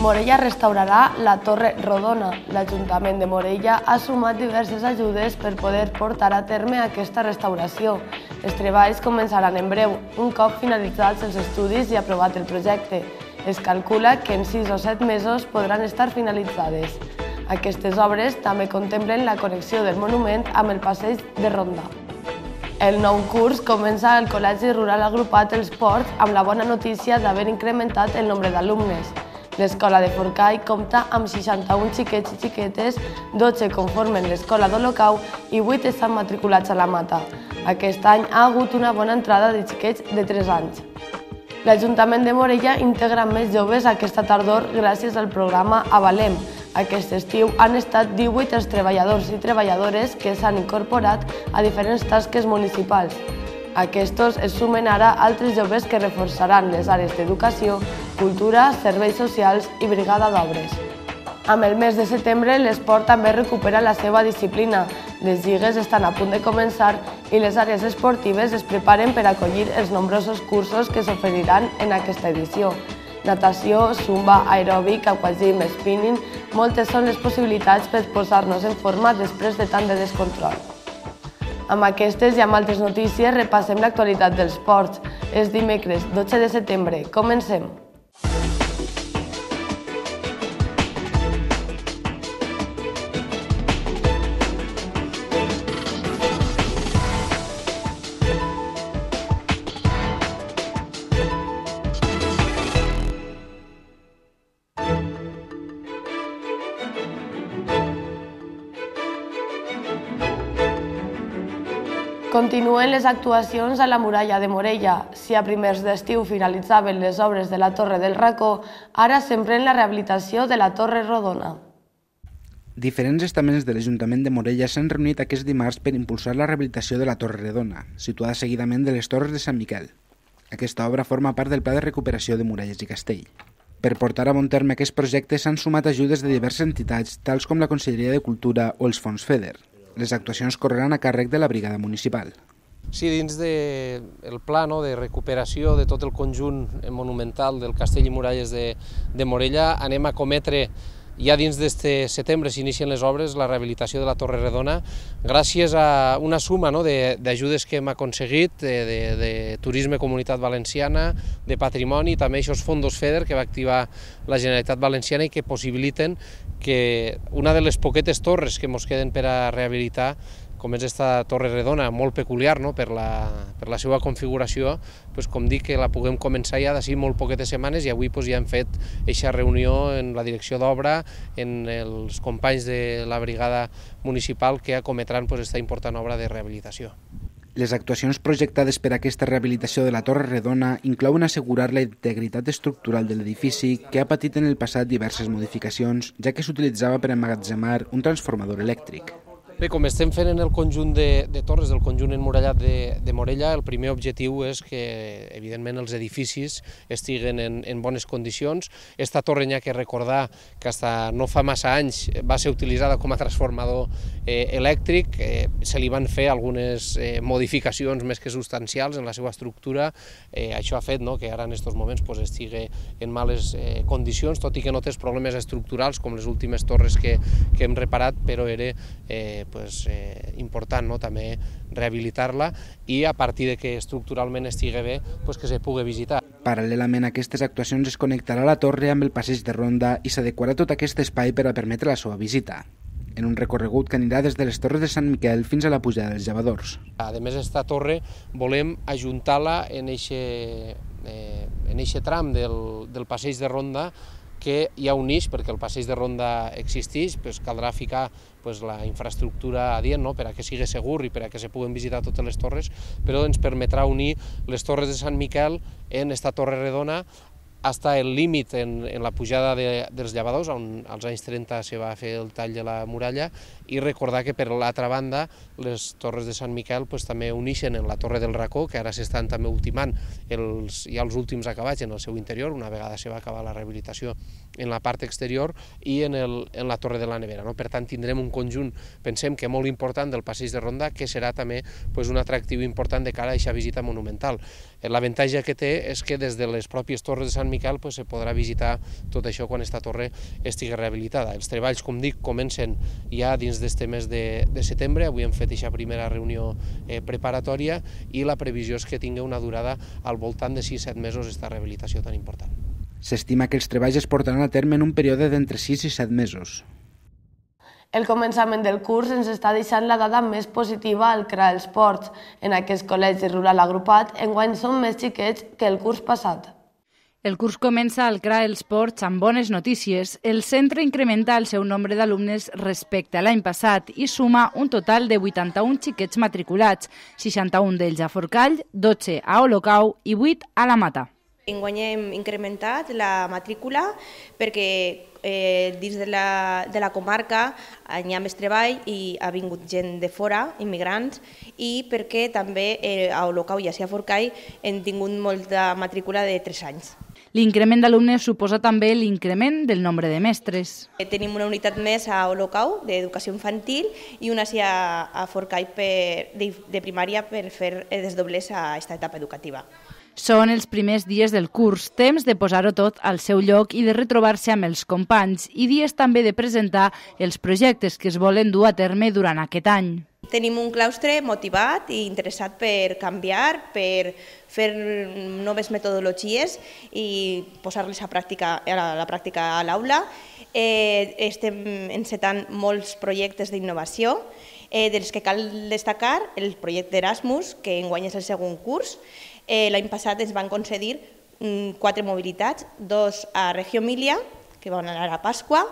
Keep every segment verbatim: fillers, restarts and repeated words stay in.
Morella restaurarà la Torre Rodona. L'Ajuntament de Morella ha sumat diverses ajudes per poder portar a terme aquesta restauració. Els treballs començaran en breu, un cop finalitzats els estudis i aprovat el projecte. Es calcula que en sis o set mesos podran estar finalitzades. Aquestes obres també contemplen la connexió del monument amb el passeig de Ronda. El nou curs comença al Col·legi Rural Agrupat Els Ports amb la bona notícia d'haver incrementat el nombre d'alumnes. L'escola de Forcall compta amb seixanta-un xiquets i xiquetes, dotze conformen l'escola d'Olocau i vuit estan matriculats a la Mata. Aquest any ha hagut una bona entrada de xiquets de tres anys. L'Ajuntament de Morella integra més joves aquesta tardor gràcies al programa Avalem. Aquest estiu han estat divuit els treballadors i treballadores que s'han incorporat a diferents tasques municipals. Aquests es sumen ara altres joves que reforçaran les àrees d'educació, cultura, serveis socials i brigada d'obres. Amb el mes de setembre, l'esport també recupera la seva disciplina. Les lligues estan a punt de començar i les àrees esportives es preparen per acollir els nombrosos cursos que s'oferiran en aquesta edició. Natació, zumba, aeròbic, aquagym, spinning, moltes són les possibilitats per posar-nos en forma després de tant de descontrol. Amb aquestes i amb altres notícies repassem l'actualitat dels ports. És dimecres, dotze de setembre. Comencem! Continuen les actuacions a la muralla de Morella. Si a primers d'estiu finalitzaven les obres de la Torre del Racó, ara s'emprèn la rehabilitació de la Torre Rodona. Diferents estaments de l'Ajuntament de Morella s'han reunit aquest dimarts per impulsar la rehabilitació de la Torre Redona, situada seguidament de les Torres de Sant Miquel. Aquesta obra forma part del Pla de Recuperació de Muralles i Castell. Per portar a bon terme aquest projecte s'han sumat ajudes de diverses entitats, tals com la Conselleria de Cultura o els Fons FEDER. Les actuacions correran a càrrec de la brigada municipal. Sí, dins del pla de recuperació de tot el conjunt monumental del Castell i Muralles de Morella anem a cometre, ja dins d'este setembre s'inicien les obres, la rehabilitació de la Torre Redona, gràcies a una suma d'ajudes que hem aconseguit de Turisme Comunitat Valenciana, de Patrimoni, i també aquests fons FEDER que va activar la Generalitat Valenciana i que possibiliten que una de les poquetes torres que ens queden per a rehabilitar, com és aquesta Torre Redona, molt peculiar per la seva configuració, com dic, que la puguem començar ja d'ací molt poquetes setmanes i avui ja hem fet aquesta reunió en la direcció d'obra, en els companys de la brigada municipal que acometran aquesta important obra de rehabilitació. Les actuacions projectades per a aquesta rehabilitació de la Torre Redona inclouen assegurar la integritat estructural de l'edifici, que ha patit en el passat diverses modificacions, ja que s'utilitzava per emmagatzemar un transformador elèctric. Bé, com estem fent en el conjunt de torres del conjunt emmurallat de Morella, el primer objectiu és que, evidentment, els edificis estiguen en bones condicions. Esta torre n'hi ha que recordar que fins no fa massa anys va ser utilitzada com a transformador elèctric, se li van fer algunes modificacions més que substancials en la seva estructura. Això ha fet que ara en aquests moments estigui en males condicions, tot i que no té problemes estructurals com les últimes torres que hem reparat, però era Pues, eh, important no? també rehabilitar-la i a partir de que estructuralment estigui bé pues, que se pugui visitar. Paral·lelament a aquestes actuacions es connectarà la torre amb el passeig de Ronda i s'adequarà tot aquest espai per a permetre la seva visita, en un recorregut que anirà des de les Torres de Sant Miquel fins a la pujada dels Llavadors. A més, aquesta torre volem ajuntar-la en aquest tram del, del passeig de Ronda que hi ha un eix, perquè el passeig de Ronda existeix, pues caldrà ficar pues, la infraestructura adient no? per a que sigui segur i per a que se puguen visitar totes les torres, però ens permetrà unir les Torres de Sant Miquel en esta Torre Redona fins al límit en, en la pujada de, dels Llavadors, on als anys trenta se va fer el tall de la muralla, i recordar que per l'altra banda les Torres de Sant Miquel pues, també uneixen en la Torre del Racó, que ara s'estan també ultimant els, ja els últims acabats en el seu interior, una vegada se va acabar la rehabilitació en la part exterior, i en, el, en la Torre de la Nevera. No? Per tant, tindrem un conjunt, pensem que molt important, del passeig de Ronda, que serà també pues, un atractiu important de cara a aquesta visita monumental. L'avantatge que té és que des de les pròpies Torres de Sant Miquel pues, se podrà visitar tot això quan aquesta torre estigui rehabilitada. Els treballs, com dic, comencen ja dins d'este mes de, de setembre. Avui hem fet aquesta primera reunió eh, preparatòria i la previsió és que tingui una durada al voltant de sis a set mesos esta rehabilitació tan important. S'estima que els treballs es portaran a terme en un període d'entre sis i set mesos. El començament del curs ens està deixant la dada més positiva al C R A Esports. En aquest col·legi rural agrupat, enguany són més xiquets que el curs passat. El curs comença al C R A Esports amb bones notícies. El centre incrementa el seu nombre d'alumnes respecte a l'any passat i suma un total de vuitanta-un xiquets matriculats, seixanta-un d'ells a Forcall, dotze a Olocau i vuit a la Mata. Enguany hem incrementat la matrícula perquè eh, dins de la, de la comarca hi ha més treball i ha vingut gent de fora, immigrants, i perquè també eh, a Olocau i a Forcall hem tingut molta matrícula de tres anys. L'increment d'alumnes suposa també l'increment del nombre de mestres. Tenim una unitat més a Olocau d'educació infantil i una a, a Forcall per, de, de primària per fer desdoblers a aquesta etapa educativa. Són els primers dies del curs, temps de posar-ho tot al seu lloc i de retrobar-se amb els companys i dies també de presentar els projectes que es volen dur a terme durant aquest any. Tenim un claustre motivat i interessat per canviar, per fer noves metodologies i posar-les a, pràctica, a la pràctica a l'aula. Eh, estem encetant molts projectes d'innovació, eh, dels que cal destacar el projecte Erasmus, que enguany és el segon curs. Eh, L'any passat ens van concedir mm, quatre mobilitats, dos a Reggio Emilia, que van anar a Pasqua,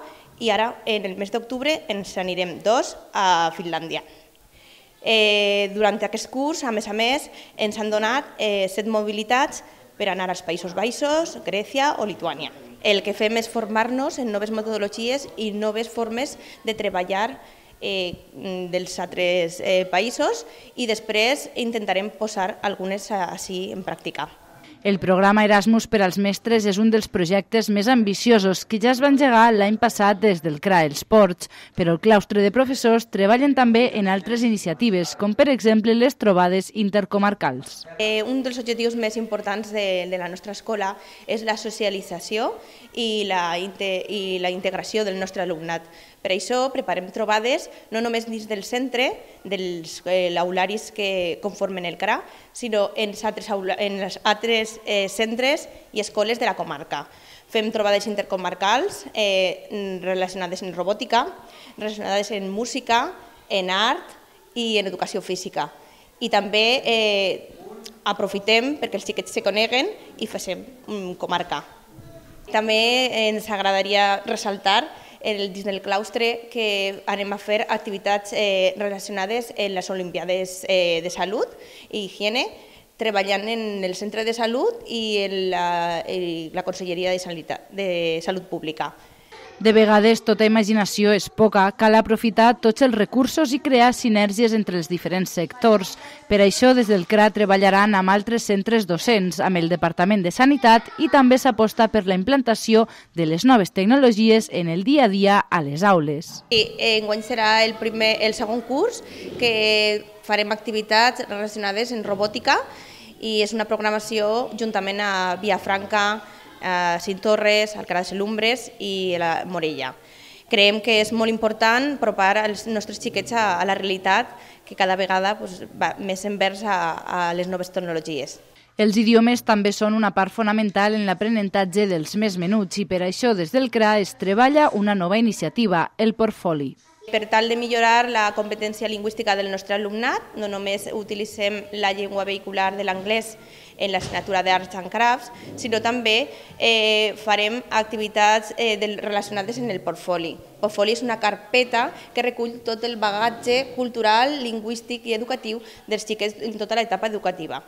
i ara en el mes d'octubre ens anirem dos a Finlàndia. Eh, durant aquest curs, a més a més, ens han donat eh, set mobilitats per anar als Països Baixos, Grècia o Lituània. El que fem és formar-nos en noves metodologies i noves formes de treballar eh, dels altres eh, països i després intentarem posar algunes així en pràctica. El programa Erasmus per als mestres és un dels projectes més ambiciosos que ja es va engegar l'any passat des del C R A Esports, però el claustre de professors treballen també en altres iniciatives, com per exemple les trobades intercomarcals. Eh, un dels objectius més importants de, de la nostra escola és la socialització i la, i la integració del nostre alumnat. Per això preparem trobades no només dins del centre, dels eh, aularis que conformen el C R A, sinó en els altres, en els altres eh, centres i escoles de la comarca. Fem trobades intercomarcals eh, relacionades en robòtica, relacionades en música, en art i en educació física. I també eh, aprofitem perquè els xiquets se coneguen i facem um, comarca. També ens agradaria ressaltar el, dins del claustre que anem a fer activitats eh, relacionades amb les Olimpiades eh, de Salut i Higiene, treballant en el Centre de Salut i en la, en la Conselleria de Salut, de Salut Pública. De vegades, tota imaginació és poca, cal aprofitar tots els recursos i crear sinergies entre els diferents sectors. Per això, des del C R A treballaran amb altres centres docents, amb el Departament de Sanitat i també s'aposta per la implantació de les noves tecnologies en el dia a dia a les aules. I enguany serà el, primer, el segon curs que farem activitats relacionades en robòtica i és una programació juntament a Vilafranca, a Cintorres, Alcalá de Selumbres i a la Morella. Creiem que és molt important apropar els nostres xiquets a, a la realitat que cada vegada pues, va més envers a, a les noves tecnologies. Els idiomes també són una part fonamental en l'aprenentatge dels més menuts i per això des del C R A es treballa una nova iniciativa, el Portfoli. Per tal de millorar la competència lingüística del nostre alumnat, no només utilitzem la llengua vehicular de l'anglès en l'assignatura d'Arts and Crafts, sinó també eh, farem activitats eh, del, relacionades en el portfoli. El portfoli és una carpeta que recull tot el bagatge cultural, lingüístic i educatiu dels xiquets en tota l'etapa educativa.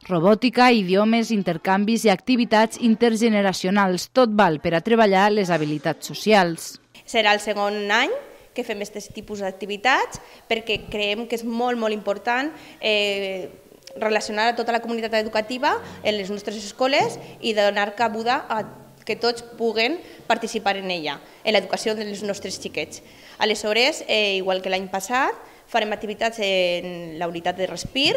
Robòtica, idiomes, intercanvis i activitats intergeneracionals, tot val per a treballar les habilitats socials. Serà el segon any que fem aquest tipus d'activitats perquè creiem que és molt, molt important eh, relacionar a tota la comunitat educativa en les nostres escoles i donar cabuda a que tots puguen participar en ella, en l'educació dels nostres xiquets. Aleshores, eh, igual que l'any passat, farem activitats en la unitat de Respir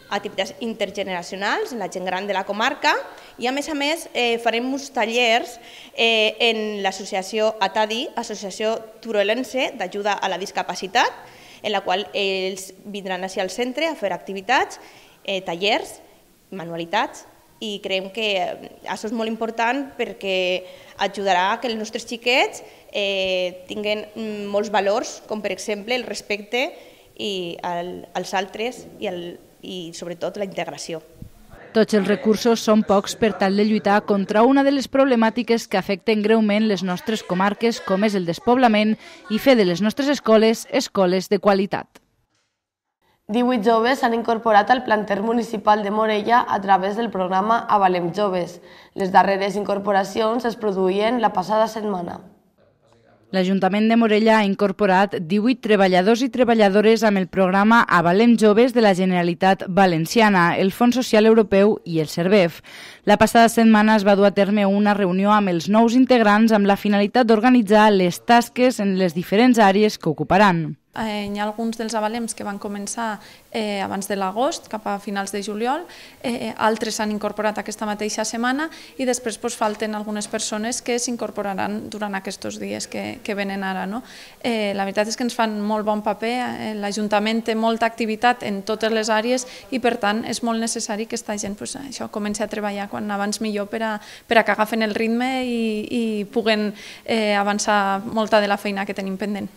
activitats intergeneracionals en la gent gran de la comarca i a més a més eh, farem uns tallers eh, en l'associació ATADI, Associació Turolense d'Ajuda a la Discapacitat, en la qual ells vindran així al centre a fer activitats, eh, tallers, manualitats, i creiem que això és molt important perquè ajudarà a que els nostres xiquets eh, tinguin molts valors, com per exemple el respecte i el, als altres i, el, i sobretot la integració. Tots els recursos són pocs per tal de lluitar contra una de les problemàtiques que afecten greument les nostres comarques, com és el despoblament, i fer de les nostres escoles escoles de qualitat. divuit joves s'han incorporat al planter municipal de Morella a través del programa Avalem Joves. Les darreres incorporacions es produïen la passada setmana. L'Ajuntament de Morella ha incorporat divuit treballadors i treballadores amb el programa Avalem Joves de la Generalitat Valenciana, el Fons Social Europeu i el Servef. La passada setmana es va dur a terme una reunió amb els nous integrants amb la finalitat d'organitzar les tasques en les diferents àrees que ocuparan. Eh, hi ha alguns dels avalems que van començar eh, abans de l'agost, cap a finals de juliol, eh, altres s'han incorporat aquesta mateixa setmana i després pues, falten algunes persones que s'incorporaran durant aquests dies que, que venen ara. No? Eh, la veritat és que ens fan molt bon paper, eh, l'Ajuntament té molta activitat en totes les àrees i per tant és molt necessari que aquesta gent pues, això, comenci a treballar quan abans millor per a, per a que agafen el ritme i, i puguen eh, avançar molta de la feina que tenim pendent.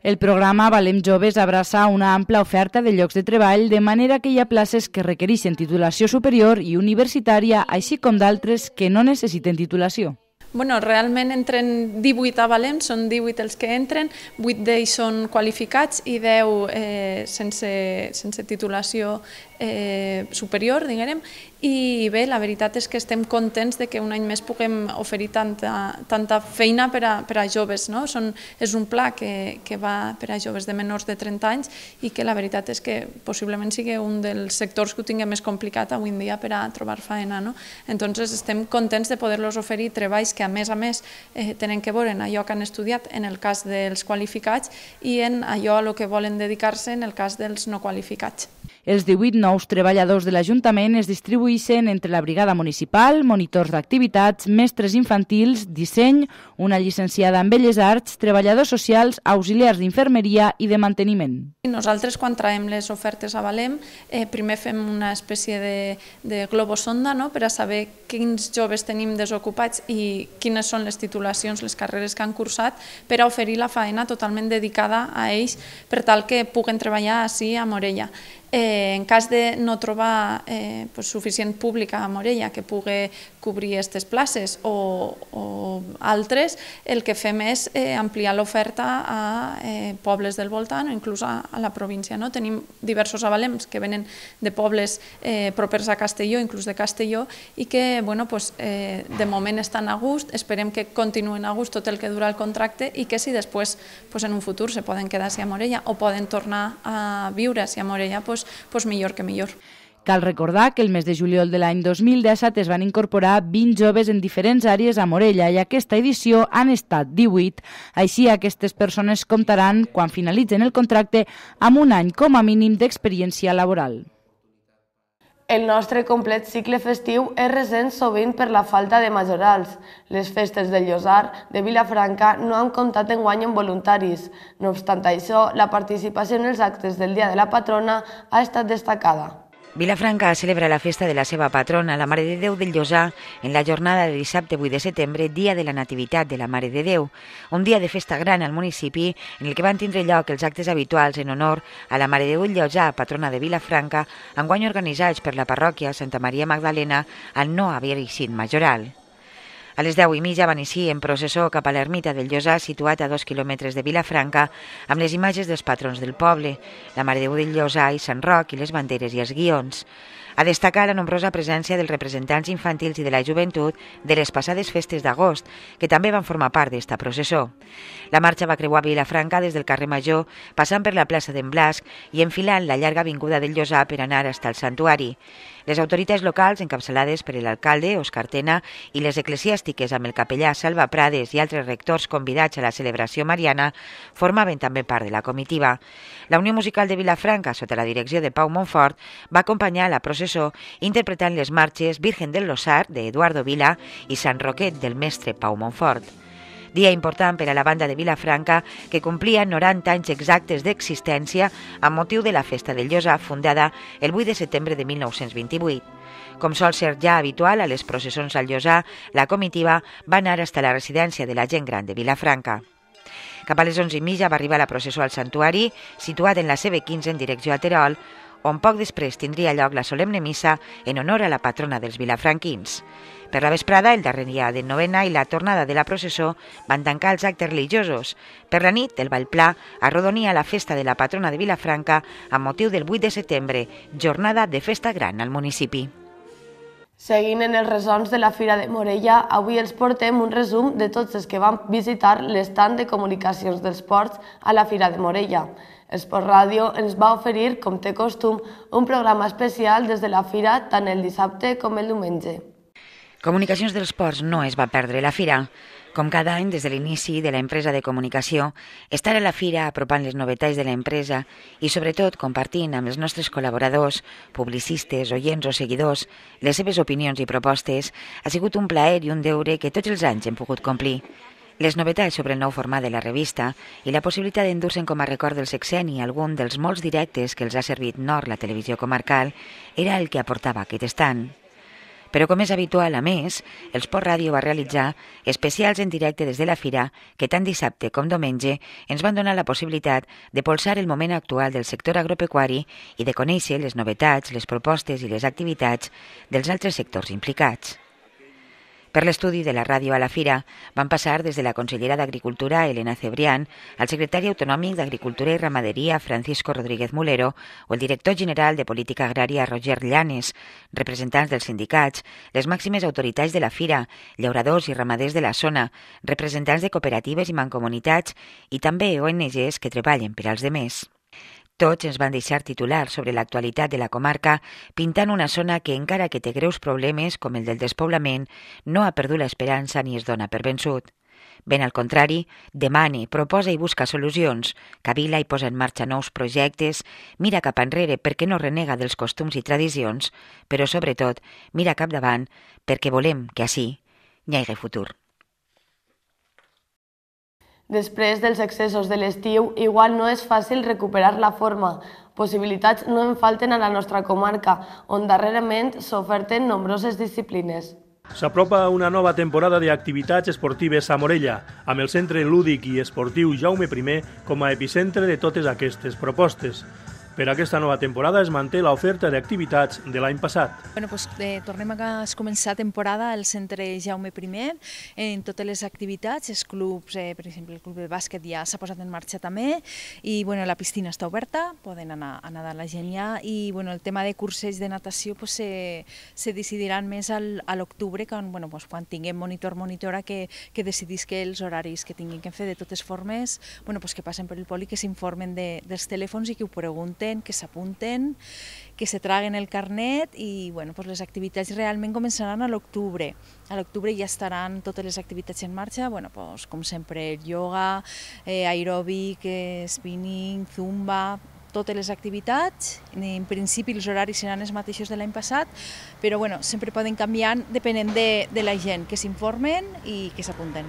El programa Avalem Joves abraça una ampla oferta de llocs de treball, de manera que hi ha places que requereixen titulació superior i universitària, així com d'altres que no necessiten titulació. Bueno, realment entren divuit avalems, són divuit els que entren, vuit d'ells són qualificats i deu eh, sense, sense titulació eh, superior, diguem. I bé, la veritat és que estem contents de que un any més puguem oferir tanta, tanta feina per a, per a joves. No? Són, és un pla que, que va per a joves de menors de trenta anys i que la veritat és que possiblement sigui un dels sectors que ho tingui més complicat avui en dia per a trobar feina. No? Entonces estem contents de poder-los oferir treballs que a més a més eh, tenen que veure en allò que han estudiat en el cas dels qualificats i en allò a lo que volen dedicar-se en el cas dels no qualificats. Els divuit nous treballadors de l'Ajuntament es distribueixen entre la brigada municipal, monitors d'activitats, mestres infantils, disseny, una llicenciada en Belles Arts, treballadors socials, auxiliars d'infermeria i de manteniment. Nosaltres, quan traiem les ofertes a Avalem, eh, primer fem una espècie de, de globosonda, no?, per a saber quins joves tenim desocupats i quines són les titulacions, les carreres que han cursat, per a oferir la feina totalment dedicada a ells per tal que puguen treballar ací a Morella. Eh, en cas de no trobar eh, pues, suficient públic a Morella que pugui cobrir aquestes places o, o altres, el que fem és eh, ampliar l'oferta a eh, pobles del voltant o inclús a, a la província. No? Tenim diversos avalems que venen de pobles eh, propers a Castelló, inclús de Castelló, i que bueno, pues, eh, de moment estan a gust, esperem que continuen a gust tot el que dura el contracte i que si després pues, en un futur se poden quedar a Morella o poden tornar a viure a Morella, pues, pues millor que millor. Cal recordar que el mes de juliol de l'any dos mil disset es van incorporar vint joves en diferents àrees a Morella i aquesta edició han estat divuit. Així, aquestes persones comptaran, quan finalitzen el contracte, amb un any com a mínim d'experiència laboral. El nostre complet cicle festiu es ressent sovint per la falta de majorals. Les festes del Llosar de Vilafranca no han comptat enguany amb voluntaris. No obstant això, la participació en els actes del Dia de la Patrona ha estat destacada. Vilafranca celebra la festa de la seva patrona, la Mare de Déu del Llosar, en la jornada de dissabte vuit de setembre, dia de la Nativitat de la Mare de Déu. Un dia de festa gran al municipi en el que van tindre lloc els actes habituals en honor a la Mare de Déu del Llosar, patrona de Vilafranca, enguany organitzats per la parròquia Santa Maria Magdalena al no haver-hi sigut majoral. A les deu i mitja van eixir en processó cap a l'ermita del Llosar, situat a dos quilòmetres de Vilafranca, amb les imatges dels patrons del poble, la Mare de Déu del Llosar i Sant Roc i les banderes i els guions. A destacar la nombrosa presència dels representants infantils i de la joventut de les passades festes d'agost, que també van formar part d'esta processó. La marxa va creuar Vilafranca des del carrer Major, passant per la plaça d'en Blasc i enfilant la llarga avinguda del Llosà per anar fins al santuari. Les autoritats locals, encapçalades per l'alcalde, Òscar Tena, i les eclesiàstiques amb el capellà Salva Prades i altres rectors convidats a la celebració mariana, formaven també part de la comitiva. La Unió Musical de Vilafranca, sota la direcció de Pau Montfort, va acompanyar la processó interpretant les marxes Virgen del Losar, d'Eduardo Vila, i Sant Roquet, del mestre Pau Montfort. Dia important per a la banda de Vilafranca, que complia noranta anys exactes d'existència amb motiu de la Festa del Llosà, fundada el vuit de setembre de mil nou-cents vint-i-vuit. Com sol ser ja habitual a les processons al Llosà, la comitiva va anar fins a la residència de la gent gran de Vilafranca. Cap a les onze i mitja va arribar la processó al santuari, situat en la C B quinze en direcció a Terol, on poc després tindria lloc la solemne missa en honor a la patrona dels vilafranquins. Per la vesprada, el darrer dia de novena i la tornada de la processó van tancar els actes religiosos. Per la nit, el ball pla arrodonia la festa de la patrona de Vilafranca amb motiu del vuit de setembre, jornada de festa gran al municipi. Seguint en els resons de la Fira de Morella, avui els portem un resum de tots els que van visitar l'estand de comunicacions dels ports a la Fira de Morella. Esport Ràdio ens va oferir, com té costum, un programa especial des de la Fira tant el dissabte com el diumenge. Comunicacions dels Ports no es va perdre la Fira. Com cada any, des de l'inici de la empresa de comunicació, estar a la Fira apropant les novetats de l'empresa i, sobretot, compartint amb els nostres col·laboradors, publicistes, oients o seguidors, les seves opinions i propostes, ha sigut un plaer i un deure que tots els anys hem pogut complir. Les novetats sobre el nou format de la revista i la possibilitat d'endur-se'n com a record del sexeni algun dels molts directes que els ha servit Nord, la televisió comarcal, era el que aportava aquest estand. Però com és habitual, a més, el Esport Ràdio va realitzar especials en directe des de la Fira que tant dissabte com diumenge ens van donar la possibilitat de polsar el moment actual del sector agropecuari i de conèixer les novetats, les propostes i les activitats dels altres sectors implicats. Per l'estudi de la ràdio a la Fira van passar des de la consellera d'Agricultura, Elena Cebrián, al secretari autonòmic d'Agricultura i Ramaderia, Francisco Rodríguez Mulero, o el director general de Política Agrària, Roger Llanes, representants dels sindicats, les màximes autoritats de la Fira, llauradors i ramaders de la zona, representants de cooperatives i mancomunitats i també O N Ges que treballen per als demés. Tots ens van deixar titulars sobre l'actualitat de la comarca, pintant una zona que, encara que té greus problemes, com el del despoblament, no ha perdut l'esperança ni es dona per vençut. Ben al contrari, demana, proposa i busca solucions, cavila i posa en marxa nous projectes, mira cap enrere perquè no renega dels costums i tradicions, però sobretot mira capdavant perquè volem que així hi hagi futur. Després dels excessos de l'estiu, igual no és fàcil recuperar la forma. Possibilitats no en falten a la nostra comarca, on darrerament s'oferten nombroses disciplines. S'apropa una nova temporada d'activitats esportives a Morella, amb el Centre Lúdic i Esportiu Jaume primer com a epicentre de totes aquestes propostes. Per aquesta nova temporada es manté l'oferta d'activitats de l'any passat. Bueno, pues, eh, tornem a començar temporada al Centre Jaume primer en totes les activitats, els clubs, eh, per exemple, el club de bàsquet ja s'ha posat en marxa també i bueno, la piscina està oberta, poden anar a nedar la gent ja i bueno, el tema de curses de natació pues, se, se decidiran més al, a l'octubre quan, bueno, pues, quan tinguem monitor monitora que, que decidisca els horaris que tinguin que fer de totes formes, bueno, pues, que passen per el poli, que s'informen de, dels telèfons i que ho pregunten, que s'apunten, que se traguen el carnet i bueno, pues les activitats realment començaran a l'octubre. A l'octubre ja estaran totes les activitats en marxa, bueno, pues, com sempre, yoga, eh, aeròbic, eh, spinning, zumba, totes les activitats. En principi els horaris seran els mateixos de l'any passat, però bueno, sempre poden canviar depenent de, de la gent, que s'informen i que s'apunten.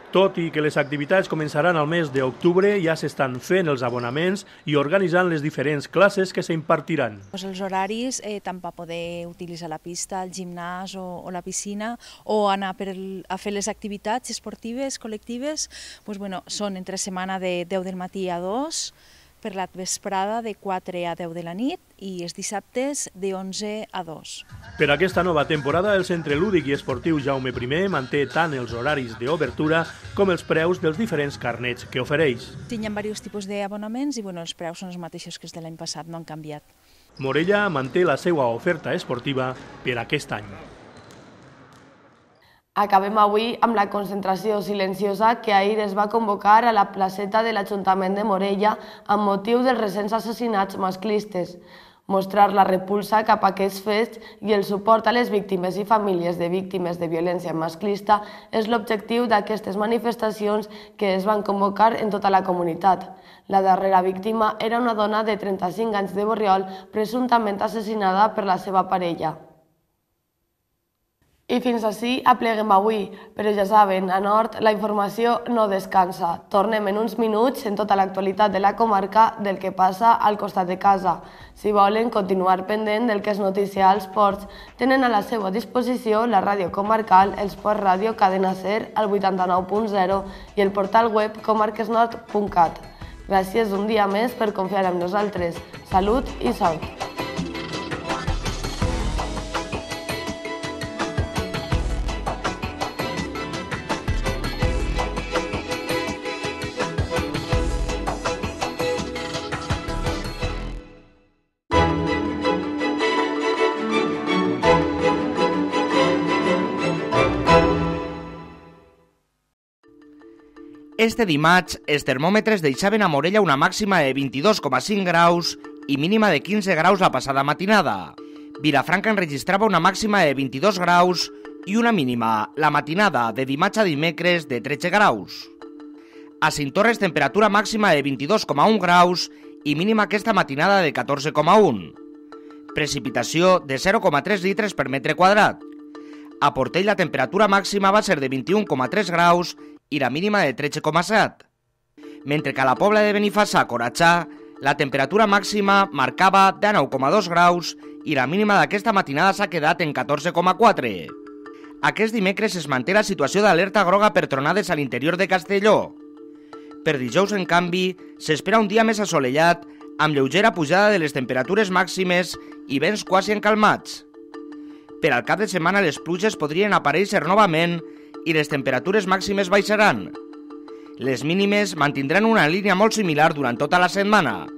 Tot i que les activitats començaran al mes d'octubre, ja s'estan fent els abonaments i organitzant les diferents classes que s'impartiran. Pues els horaris, eh, tant per poder utilitzar la pista, el gimnàs o, o la piscina, o anar per el, a fer les activitats esportives, col·lectives, pues, bueno, són entre setmana de deu del matí a dos, per la vesprada de quatre a deu de la nit i els dissabtes de onze a dos. Per aquesta nova temporada, el Centre Lúdic i Esportiu Jaume primer manté tant els horaris d'obertura com els preus dels diferents carnets que ofereix. Hi ha diversos tipus d'abonaments i bueno, els preus són els mateixos que els de l'any passat, no han canviat. Morella manté la seva oferta esportiva per aquest any. Acabem avui amb la concentració silenciosa que ahir es va convocar a la placeta de l'Ajuntament de Morella amb motiu dels recents assassinats masclistes. Mostrar la repulsa cap a aquests fets i el suport a les víctimes i famílies de víctimes de violència masclista és l'objectiu d'aquestes manifestacions que es van convocar en tota la comunitat. La darrera víctima era una dona de trenta-cinc anys de Borriol, presumptament assassinada per la seva parella. I fins ací apleguem avui, però ja saben, a Nord la informació no descansa. Tornem en uns minuts en tota l'actualitat de la comarca del que passa al costat de casa. Si volen continuar pendent del que és notícia als ports, tenen a la seva disposició la ràdio comarcal, el Sport Ràdio Cadena Ser al vuitanta-nou punt zero i el portal web comarques nord punt cat. Gràcies un dia més per confiar en nosaltres. Salut i sort! Este dimarts, els termòmetres deixaven a Morella una màxima de vint-i-dos coma cinc graus i mínima de quinze graus la passada matinada. Vilafranca enregistrava una màxima de vint-i-dos graus i una mínima la matinada de dimarts a dimecres de tretze graus. A Cinctorres, temperatura màxima de vint-i-dos coma un graus i mínima aquesta matinada de catorze coma un. Precipitació de zero coma tres litres per metre quadrat. A Portell la temperatura màxima va ser de vint-i-un coma tres graus i la mínima de tretze coma set. Mentre que a la Pobla de Benifassà, Coratxà, la temperatura màxima marcava dinou coma dos graus i la mínima d'aquesta matinada s'ha quedat en catorze coma quatre. Aquest dimecres es manté la situació d'alerta groga per tronades a l'interior de Castelló. Per dijous, en canvi, s'espera un dia més assolellat, amb lleugera pujada de les temperatures màximes i vents quasi encalmats. Per al cap de setmana les pluges podrien aparèixer novament i les temperatures màximes baixaran. Les mínimes mantindran una línia molt similar durant tota la setmana.